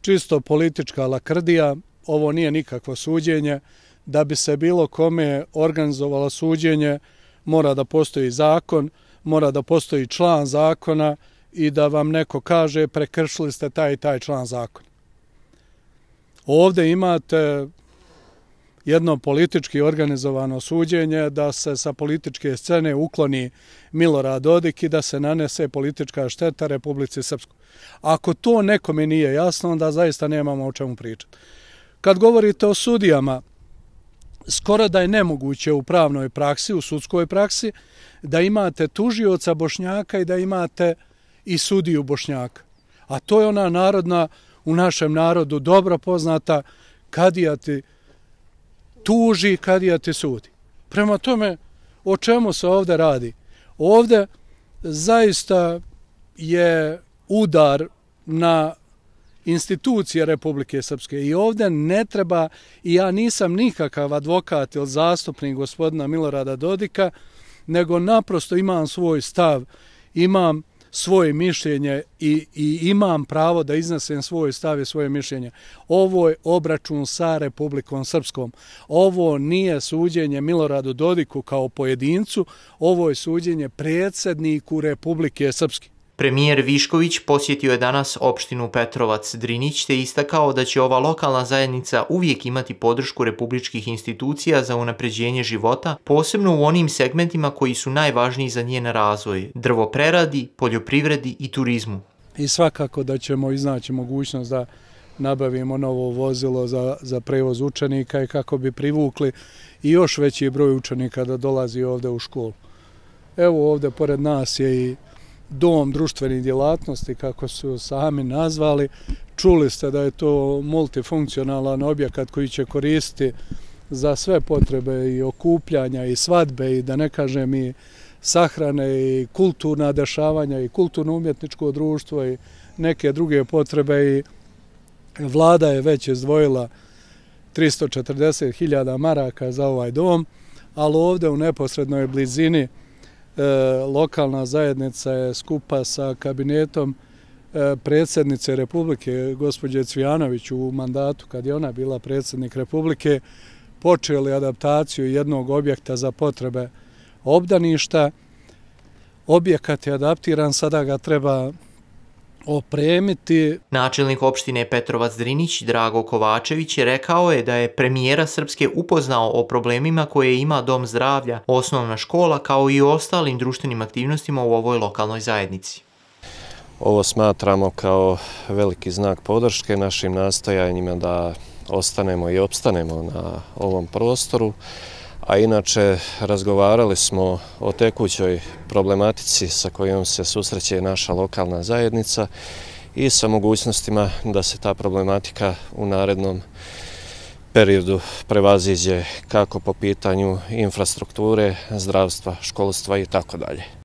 čisto politička lakrdija, ovo nije nikakvo suđenje. Da bi se bilo kome organizovalo suđenje, mora da postoji zakon, mora da postoji član zakona i da vam neko kaže prekršili ste taj i taj član zakona. Ovdje imate jedno politički organizovano suđenje da se sa političke scene ukloni Milorad Dodik i da se nanese politička šteta Republici Srpskoj. Ako to nekome nije jasno, onda zaista nemamo o čemu pričati. Kad govorite o sudijama, skoro da je nemoguće u pravnoj praksi, u sudskoj praksi, da imate tužioca Bošnjaka i da imate i sudiju Bošnjaka. A to je ona narodna, u našem narodu dobro poznata, kadija ti tuži, kadija ti sudi. Prema tome, o čemu se ovdje radi? Ovdje zaista je udar na institucije Republike Srpske i ovdje ne treba, i ja nisam nikakav advokat ili zastupnik gospodina Milorada Dodika, nego naprosto imam svoj stav, imam svoje mišljenje i imam pravo da iznesem svoj stav i svoje mišljenje. Ovo je obračun sa Republikom Srpskom. Ovo nije suđenje Miloradu Dodiku kao pojedincu, ovo je suđenje predsjedniku Republike Srpske. Premijer Višković posjetio je danas opštinu Petrovac-Drinić te istakao da će ova lokalna zajednica uvijek imati podršku republičkih institucija za unapređenje života, posebno u onim segmentima koji su najvažniji za njen razvoj, drvopreradi, poljoprivredi i turizmu. I svakako da ćemo iznaći mogućnost da nabavimo novo vozilo za prevoz učenika i kako bi privukli i još veći broj učenika da dolazi ovdje u školu. Evo ovdje pored nas je i dom društvenih djelatnosti, kako su sami nazvali. Čuli ste da je to multifunkcionalan objekat koji će koristiti za sve potrebe i okupljanja i svadbe i da ne kažem i sahrane i kulturna dešavanja i kulturno-umjetničko društvo i neke druge potrebe i vlada je već izdvojila 340.000 maraka za ovaj dom, ali ovdje u neposrednoj blizini lokalna zajednica je skupa sa kabinetom predsjednice Republike, gospođe Cvijanović, u mandatu kad je ona bila predsjednik Republike, počeli adaptaciju jednog objekta za potrebe obdaništa. Objekat je adaptiran, sada ga treba opremiti. Načelnik opštine Petrovac-Drinić Drago Kovačević je rekao da je premijera Srpske upoznao o problemima koje ima dom zdravlja, osnovna škola kao i ostalim društvenim aktivnostima u ovoj lokalnoj zajednici. Ovo smatramo kao veliki znak podrške našim nastojanjima da ostanemo i opstanemo na ovom prostoru. A inače, razgovarali smo o tekućoj problematici sa kojom se susreće naša lokalna zajednica i sa mogućnostima da se ta problematika u narednom periodu prevaziđe kako po pitanju infrastrukture, zdravstva, školstva i tako dalje.